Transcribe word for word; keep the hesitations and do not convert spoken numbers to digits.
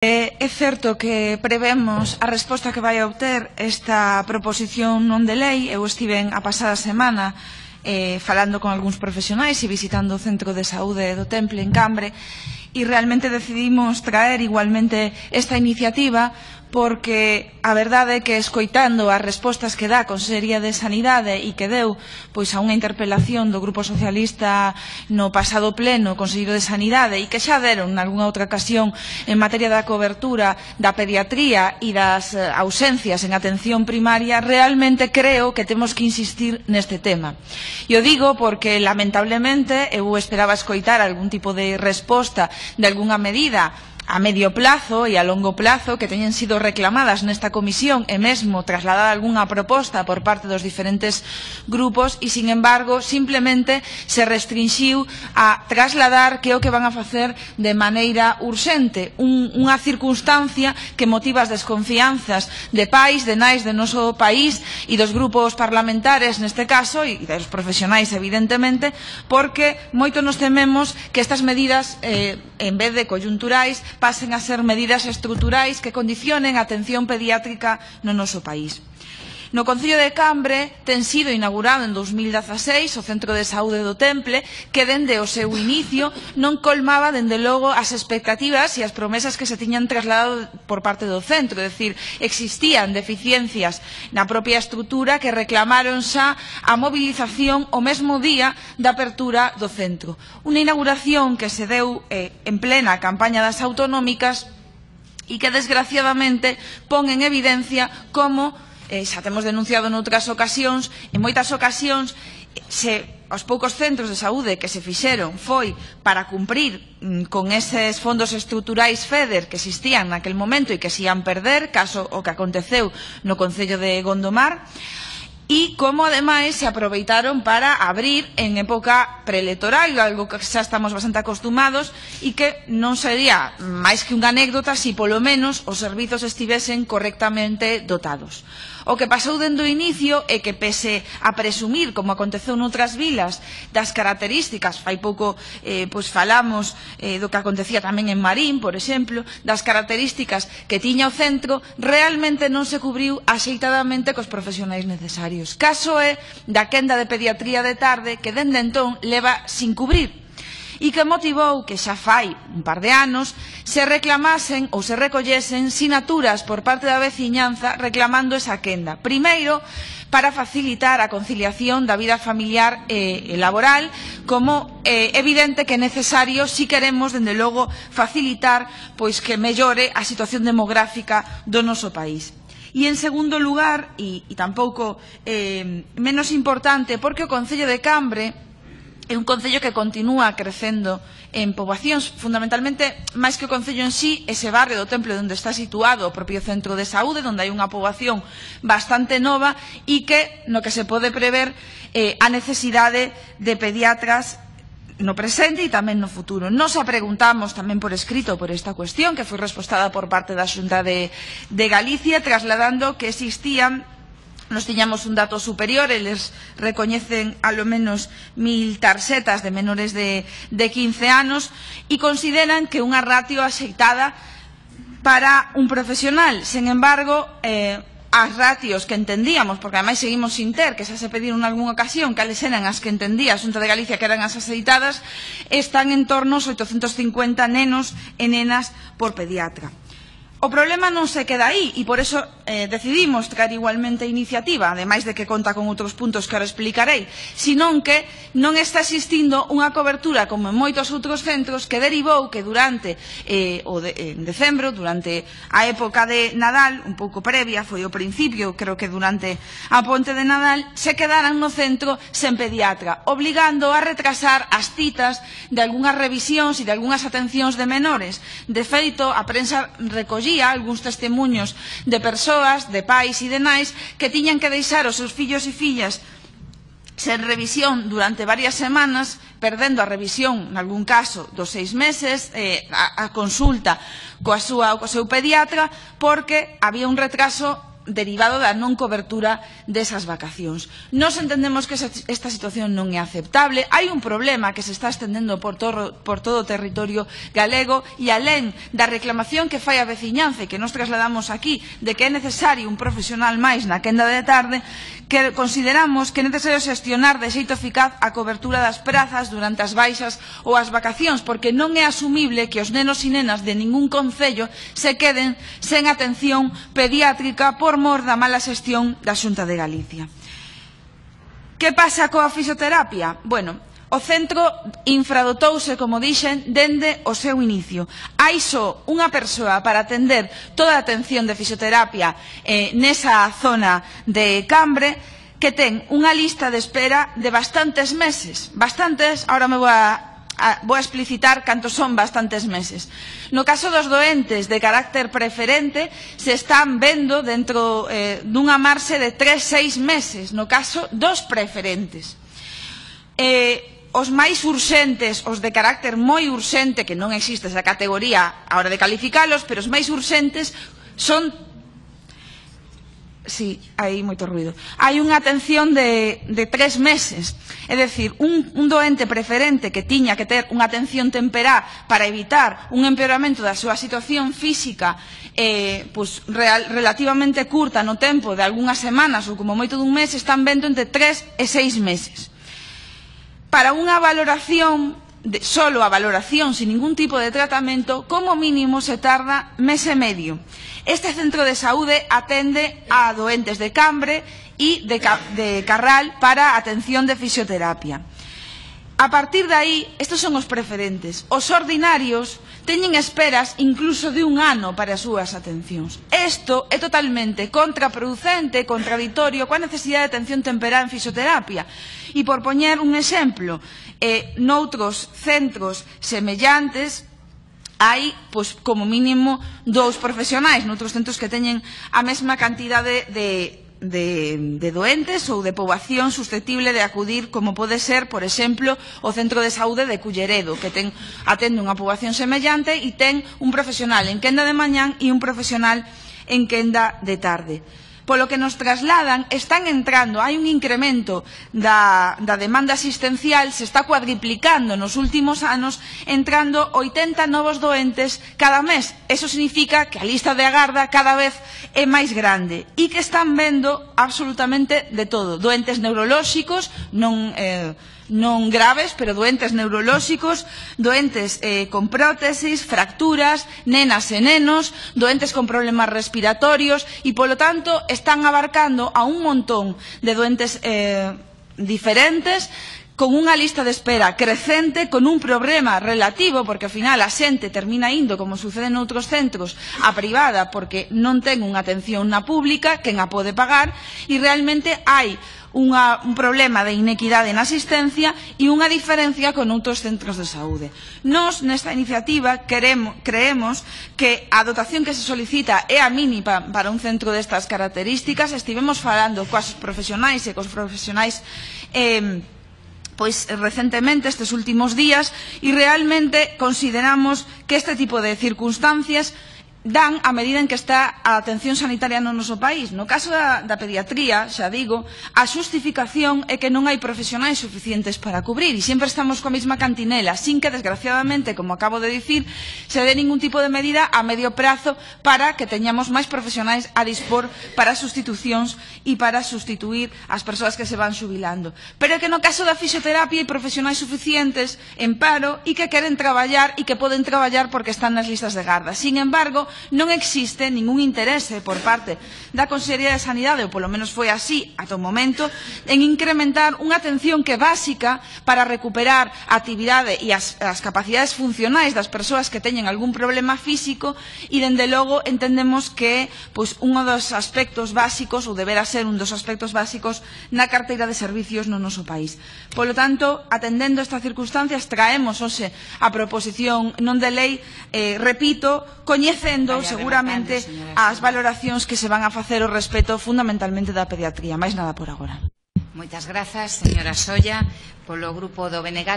É certo que prevemos a resposta que vai a obter esta proposición non de lei. Eu estive a pasada semana eh, falando con algúns profesionais e visitando o Centro de Saúde do Temple en Cambre e realmente decidimos traer igualmente esta iniciativa porque a verdade é que escoitando as respostas que dá a Consellería de Sanidade e que deu pois a unha interpelación do Grupo Socialista no pasado pleno, o Conselleiro de Sanidade, e que xa deron nalgúna outra ocasión en materia da cobertura da pediatría e das ausencias en atención primaria, realmente creo que temos que insistir neste tema. E o digo porque, lamentablemente, eu esperaba escoitar algún tipo de resposta de algunha medida a medio plazo e a longo plazo que teñen sido reclamadas nesta comisión e mesmo trasladada algunha proposta por parte dos diferentes grupos e, sin embargo, simplemente se restrinxiu a trasladar que é o que van a facer de maneira urxente, un, unha circunstancia que motiva as desconfianzas de pais, de nais de noso país e dos grupos parlamentares neste caso e dos profesionais, evidentemente, porque moito nos tememos que estas medidas, eh, en vez de coyunturais, pasen a ser medidas estruturais que condicionen a atención pediátrica no noso país. No Concello de Cambre ten sido inaugurado en dous mil dezaseis o Centro de Saúde do Temple, que dende o seu inicio non colmaba, dende logo, as expectativas e as promesas que se tiñan trasladado por parte do centro. É dicir, existían deficiencias na propia estrutura que reclamaron xa a mobilización o mesmo día da apertura do centro. Unha inauguración que se deu eh, en plena campaña das autonómicas e que, desgraciadamente, pon en evidencia como Eh, xa temos denunciado noutras ocasións, en moitas ocasións, se os poucos centros de saúde que se fixeron foi para cumprir mm, con eses fondos estruturais FEDER que existían naquel momento e que se ian perder, caso o que aconteceu no Concello de Gondomar, e como, ademais, se aproveitaron para abrir en época preelectoral, algo que xa estamos bastante acostumados e que non sería máis que unha anécdota se polo menos os servizos estivesen correctamente dotados. O que pasou dende o inicio é que, pese a presumir, como aconteceu noutras vilas, das características, fai pouco eh, pois falamos eh, do que acontecía tamén en Marín, por exemplo, das características que tiña o centro, realmente non se cubriu axeitadamente cos profesionais necesarios. Caso é da quenda de pediatría de tarde que dende entón leva sin cubrir e que motivou que xa fai un par de anos se reclamasen ou se recollesen sinaturas por parte da veciñanza reclamando esa quenda. Primeiro, para facilitar a conciliación da vida familiar e laboral, como é eh, evidente que é necesario si queremos, dende logo, facilitar pois que mellore a situación demográfica do noso país. E, en segundo lugar, e, e tampouco eh, menos importante, porque o Concello de Cambre é un concello que continúa crecendo en poboacións, fundamentalmente, máis que o concello en sí, ese barrio do Temple onde está situado o propio centro de saúde, onde hai unha poboación bastante nova e que, no que se pode prever, eh, a necesidade de pediatras no presente e tamén no futuro. Nos a preguntamos tamén por escrito por esta cuestión, que foi respostada por parte da Xunta de, de Galicia, trasladando que existían, nos tiñamos un dato superior, eles recoñecen alo menos mil tarxetas de menores de, de quince anos e consideran que unha ratio axeitada para un profesional. Sen embargo, eh, as ratios que entendíamos, porque ademais seguimos sin ter, que xa se pediron en algunha ocasión, cales eran as que entendía a Xunta de Galicia que eran as axeitadas, están en torno aos oitocentos cincuenta nenos e nenas por pediatra. O problema non se queda aí e por eso eh, decidimos traer igualmente a iniciativa, ademais de que conta con outros puntos que ahora explicarei, senón que non está existindo unha cobertura como en moitos outros centros que derivou que durante eh, o de, en decembro, durante a época de Nadal, un pouco previa, foi o principio, creo que durante a ponte de Nadal, se quedaran no centro sen pediatra, obligando a retrasar as citas de algunhas revisións e de algunhas atencións de menores. De feito, a prensa recollía algúns testemunhos de persoas, de pais e de nais que tiñan que deixar os seus fillos e fillas sen revisión durante varias semanas, perdendo a revisión, en algún caso, dos seis meses, eh, a, a consulta coa súa, co seu pediatra, porque había un retraso derivado da non cobertura desas vacacións. Nos entendemos que esta situación non é aceptable. Hai un problema que se está estendendo por todo, por todo o territorio galego e alén da reclamación que fai a veciñanza que nos trasladamos aquí de que é necesario un profesional máis na quenda de tarde, que consideramos que é necesario xestionar de xeito eficaz a cobertura das prazas durante as baixas ou as vacacións, porque non é asumible que os nenos e nenas de ningún concello se queden sen atención pediátrica por mor da mala xestión da Xunta de Galicia. Que pasa coa fisioterapia? Bueno, o centro infradotouse, como dixen, dende o seu inicio. Hai só unha persoa para atender toda a atención de fisioterapia eh, nesa zona de Cambre, que ten unha lista de espera de bastantes meses. Bastantes, ahora me vou a vou a explicitar cantos son bastantes meses. No caso dos doentes de carácter preferente se están vendo dentro eh, dunha marxe de tres a seis meses, no caso dos preferentes. Eh, os máis urxentes, os de carácter moi urxente, que non existe esa categoría a hora de calificalos, pero os máis urxentes son... Sí, hai moito ruido. Hai unha atención de, de tres meses. É dicir, un, un doente preferente que tiña que ter unha atención temperá para evitar un empeoramento da súa situación física eh, pues, real, relativamente curta no tempo de algunhas semanas ou como moito dun mes, están vendo entre tres e seis meses. Para unha valoración, de, solo a valoración sin ningún tipo de tratamento, como mínimo se tarda mes e medio. Este centro de saúde atende a doentes de Cambre e de, de Carral para atención de fisioterapia. A partir de aí, estes son os preferentes. Os ordinarios teñen esperas incluso de un ano para as súas atencións. Isto é totalmente contraproducente, contradictorio coa necesidade de atención temperá en fisioterapia. E por poñer un exemplo, eh, noutros centros semellantes, hai, pois, como mínimo, dous profesionais noutros centros que teñen a mesma cantidade de, de, de doentes ou de poboación susceptible de acudir, como pode ser, por exemplo, o Centro de Saúde de Culleredo, que ten, atende unha poboación semellante e ten un profesional en quenda de mañán e un profesional en quenda de tarde. Polo que nos trasladan, están entrando, hai un incremento da, da demanda asistencial, se está cuadriplicando nos últimos anos, entrando oitenta novos doentes cada mes. Eso significa que a lista de agarda cada vez é máis grande e que están vendo absolutamente de todo. Doentes neurolóxicos, non... Eh, non graves, pero doentes neurolóxicos, doentes eh, con prótesis, fracturas, nenas e nenos, doentes con problemas respiratorios e, polo tanto, están abarcando a un montón de doentes eh, diferentes, con unha lista de espera crecente, con un problema relativo, porque ao final a xente termina indo, como sucede noutros centros, a privada, porque non ten unha atención na pública, quen a pode pagar, e realmente hai Unha, un problema de inequidade na asistencia e unha diferencia con outros centros de saúde. Nos, nesta iniciativa, queremos, creemos que a dotación que se solicita é a mínima para un centro destas características. Estivemos falando coas profesionais e cos profesionais eh, pois recentemente, estes últimos días, e realmente consideramos que este tipo de circunstancias dan a medida en que está a atención sanitaria no noso país. No caso da, da pediatría, xa digo, a xustificación é que non hai profesionais suficientes para cubrir e sempre estamos coa mesma cantinela, sin que, desgraciadamente, como acabo de dicir, se dé ningún tipo de medida a medio prazo para que teñamos máis profesionais a dispor para sustitucións e para sustituir as persoas que se van xubilando. Pero é que no caso da fisioterapia hai profesionais suficientes en paro e que queren traballar e que poden traballar porque están nas listas de garda. Sin embargo, non existe ningún interese por parte da Consellería de Sanidade, ou polo menos foi así ata o momento, en incrementar unha atención que é básica para recuperar a actividade e as, as capacidades funcionais das persoas que teñen algún problema físico e, dende logo, entendemos que pois, un dos aspectos básicos, ou deberá ser un dos aspectos básicos na carteira de servicios no noso país. Polo tanto, atendendo estas circunstancias, traemos hoxe a proposición non de lei, eh, repito, coñecendo seguramente as valoracións que se van a facer ao respecto fundamentalmente da pediatría. Máis nada por agora. Moitas grazas, señora Solla, polo grupo do B N G.